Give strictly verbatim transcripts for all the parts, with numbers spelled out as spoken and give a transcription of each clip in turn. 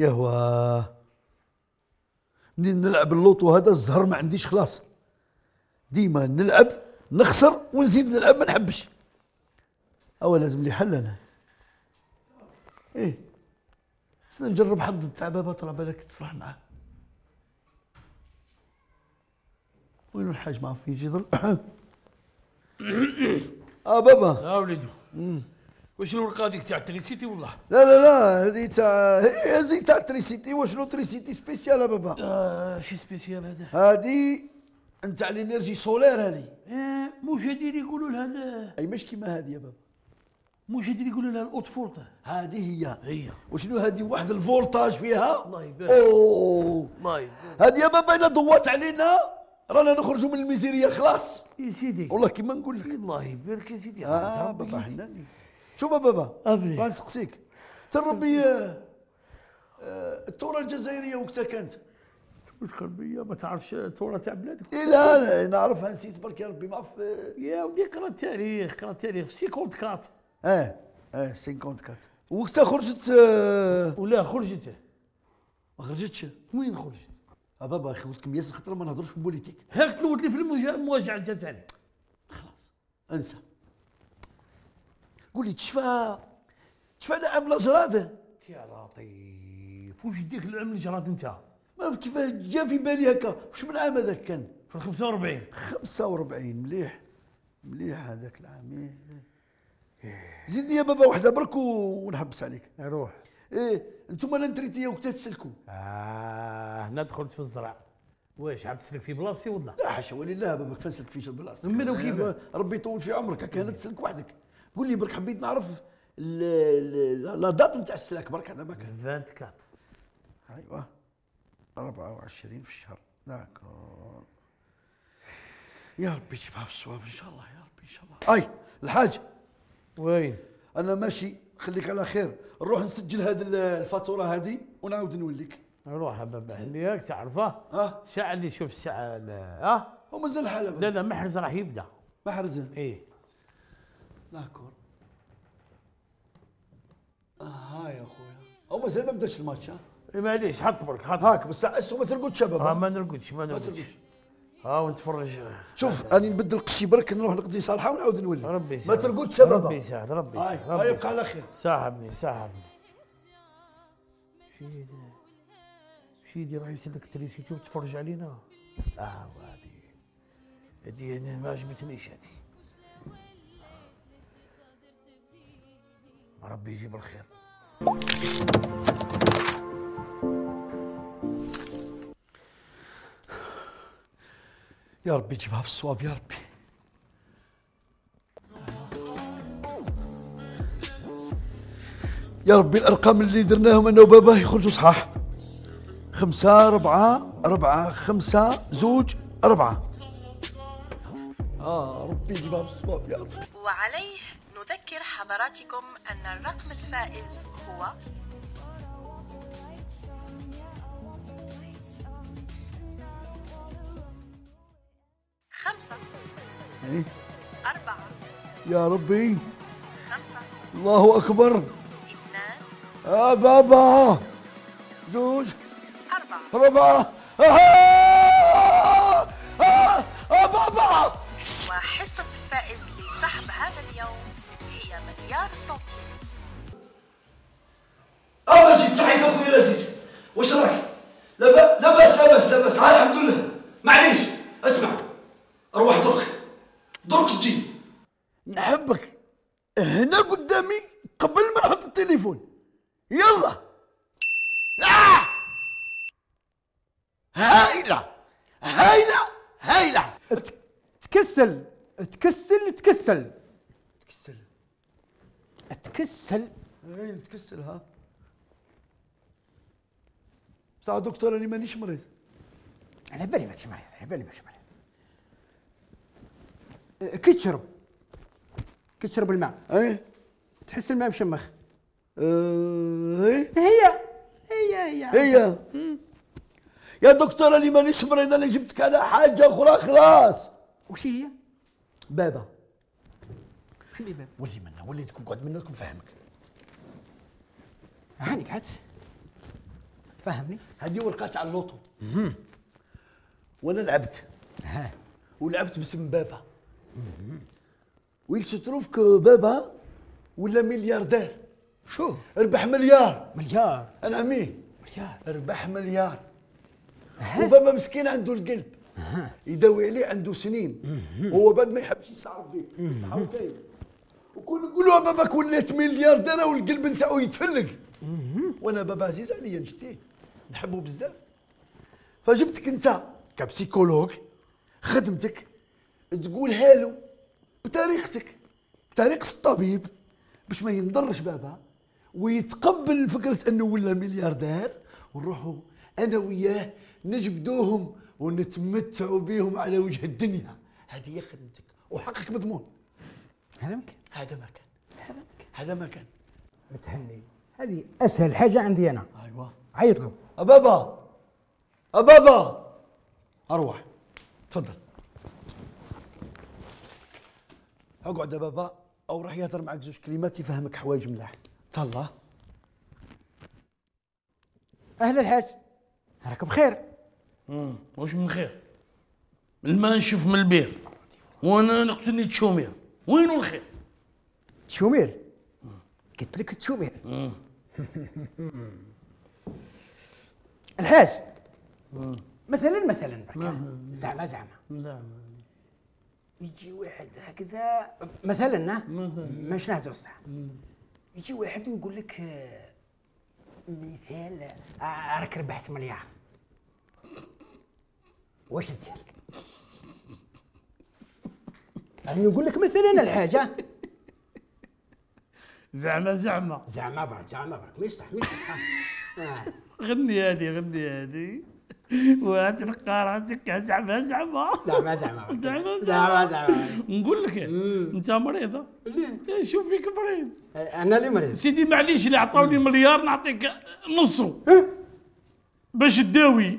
يهوى منين نلعب اللوطو هذا الزهر ما عنديش خلاص، ديما نلعب نخسر ونزيد نلعب ما نحبش. أو لازم لي حل أنا. إيه نجرب حظ تاع بابا طلع بالك تصلح معاه. وين الحاج ما عرف يجي يضرب. اه بابا. اه وليدو. واش الورقه هذيك تاع تريسيتي والله؟ لا لا لا هذه تاع هذه تاع تريسيتي. واشنو تريسيتي سبيسيال بابا؟ اه شي سبيسيال هذا؟ هذه نتاع الانرجي سولير هذه. اه مجدد يقولوا لها. اي مش كيما هذه يا بابا. مجدد يقولوا لها الاوت فولتا. هذه هي. هي. وشنو هذه واحد الفولتاج فيها؟ الله يبارك. اوه الله يبارك. هذه يا بابا الا ضوات علينا رانا نخرجوا من الميزيريه خلاص. يا سيدي. والله كيما نقول لك. الله يبارك يا سيدي. اه بابا حناني. شوف بابا أبلي. راه نسقسيك تربي آه آه الثوره الجزائريه وقتها كانت تذكر بيا ما تعرفش الثوره تاع بلادك؟ إيه لا لا نعرفها نسيت برك يا ربي ما عرف. يا ودي قرا التاريخ قرا التاريخ في خمسين أربعة. اه اه خمسين أربعة وقتها خرجت آه ولا خرجت ما خرجتش. وين خرجت؟ اه بابا اخي قلت لكم ياسر خاطر ما نهضروش في البوليتيك. هاك تلوت لي في المواجهه تاعي. خلاص انسى. قول لي تشفى تشفى نعم لاجراد. يا لطيف واش يديك العام الجراد انت؟ ما عرفت كيفاه جا في بالي هكا. واش من عام هذاك كان؟ في خمسة وأربعين. خمسة وأربعين مليح مليح هذاك العام. زيدني يا بابا وحده برك ونحبس عليك. روح. ايه انتم لا نتريتي وقتها تسلكوا. اه هنا دخلت في الزرع. واش عاد تسلك في بلاصتي ولا؟ لا حاشا ولله بابا كيف نسلك في بلاصتك. من وكيف؟ ربي يطول في عمرك هكا هنا تسلك وحدك. قول لي برك حبيت نعرف لا دات نتاع السلاك برك هذا ما كان. أربعة وعشرين. ايوا أربعة وعشرين في الشهر داكور. يا ربي تجيبها في الصواب ان شاء الله يا ربي ان شاء الله. اي الحاج وين؟ انا ماشي خليك على خير. نروح نسجل هذه الفاتوره هذه ونعاود نوليك. روح بابا حليك تعرفه. اه الساعه اللي شوف الساعه اه ومازال الحال لا لا محرز راح يبدا. محرز ايه داكور. اه ها يا خويا او مازال ما بداش الماتش. ها معليش حط برك حط هاك بس اسو ما ترقدش بابا. اه ما نرقدش ما نرقدش. ها ونتفرج. شوف راني نبدل قشي برك نروح نقضي صالحه ونعاود نولي. ربي يساعد. ما ترقدش بابا. ربي يساعد ربي هاي يساعد. هاي يبقى على خير. صاحبني صاحبني. شيدي شيدي راح يسلك التريسيتي وتفرج علينا. اه وهذه هذه انا ما عجبتنيش هذه. ربي يجيب الخير. يا ربي جيبها في الصواب يا ربي. يا ربي الارقام اللي درناهم انا وبابا يخرجوا صحاح. خمسة أربعة أربعة خمسة زوج أربعة. آه ربي يجيبها في الصواب يا ربي. وعليه نذكر حضراتكم أن الرقم الفائز هو خمسة إيه؟ أربعة يا ربي خمسة الله أكبر. اثنان آه بابا زوج أربعة أربعة. آه آه آه بابا. وحصة الفائز لسحب هذا اليوم هي مليار سنتيم. أنا جيت صحيت واش راك؟ لا باس لا باس لا باس لا باس، ها الحمد لله. معليش اسمع، روح درك درك تجي. نحبك هنا قدامي قبل ما نحط التليفون. يلا. آه! هايله هايله هايله. تكسل تكسل تكسل تكسل تكسل. اي تكسل. ها بصح دكتور انا مانيش مريض. على بالي ماكش مريض، على بالي ماكش مريض. كي تشرب كي تشرب الماء اي تحس الماء مشمخ. أه هي هي هي هي هي يا دكتور انا مانيش مريض، انا جبتك على حاجه اخرى خلاص. وش هي؟ بابا. شنو اللي باب؟ ولي منا ولي تقعد منك نفهمك. هاني قعدت فهمني. هذه ورقات على اللوطو وانا لعبت ها ولعبت باسم بابا. ويل ستروف كو بابا ولا ملياردير. شو؟ ربح مليار. مليار. انا عميه مليار. ربح مليار. وبابا مسكين عنده القلب يداوي عليه عنده سنين. هو بعد ما يحبش يستعرف بيك صحاو كاين. وكل نقولوا باباك وليت ملياردير والقلب نتاعو يتفلق. وانا بابا عزيز عليا نشتيه نحبه بزاف. فجبتك انت كبسيكولوج خدمتك تقولها له بطريقتك بطريقة الطبيب باش ما ينضرش بابا ويتقبل فكرة انه ولا ملياردير، ونروحوا انا وياه نجبدوهم ونتمتعوا بهم على وجه الدنيا. هذه هي خدمتك وحقك مضمون. هذا ممكن. هذا ما كان هذا ممكن. هذا ما كان. متهني، هذه اسهل حاجه عندي انا. ايوه عيط له. أبابا أبابا أروح تفضل اقعد يا بابا أو راح يهضر معك زوج كلمات يفهمك حوايج ملاح. تهلا. اهلا الحاج، راك بخير؟ امم واش من خير؟ الماء نشوف من البير وانا نقتلني تشومير، وينو الخير؟ تشومير؟ قلت لك تشومير. الحاج مثلا مثلا زعما زعما لا يجي واحد هكذا مثلا ماش نهدر صح، يجي واحد ويقول لك آه، مثال آه، راك ربحت مليار، واش دير؟ يعني نقول لك مثلا الحاجه زعما زعما زعما برك زعما برك ما يصح ما يصح. آه. غني هذه غني هذه وتلقى راسك زعما زعما زعما زعما زعما زعما زعما. نقول لك انت مريض. ليه؟ شوف فيك مريض. انا اللي مريض سيدي معليش اللي عطاوني مليار نعطيك نصو باش تداوي.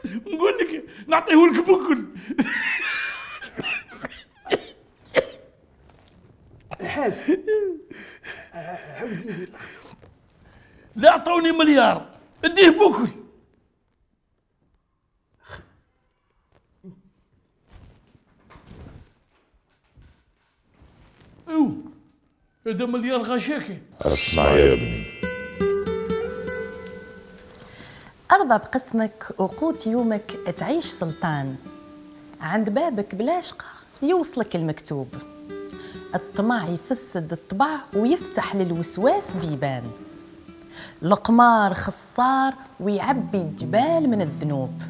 نقول لك نعطيه لك بكل. الحاج عاود لي لا عطاوني مليار اديه بكل. ايوا هذا مليار غشاكي. اسمع يا ابني، أرضى بقسمك وقوت يومك تعيش سلطان، عند بابك بلا شقة يوصلك المكتوب، الطمع يفسد الطبع ويفتح للوسواس بيبان، القمار خصار ويعبي الجبال من الذنوب.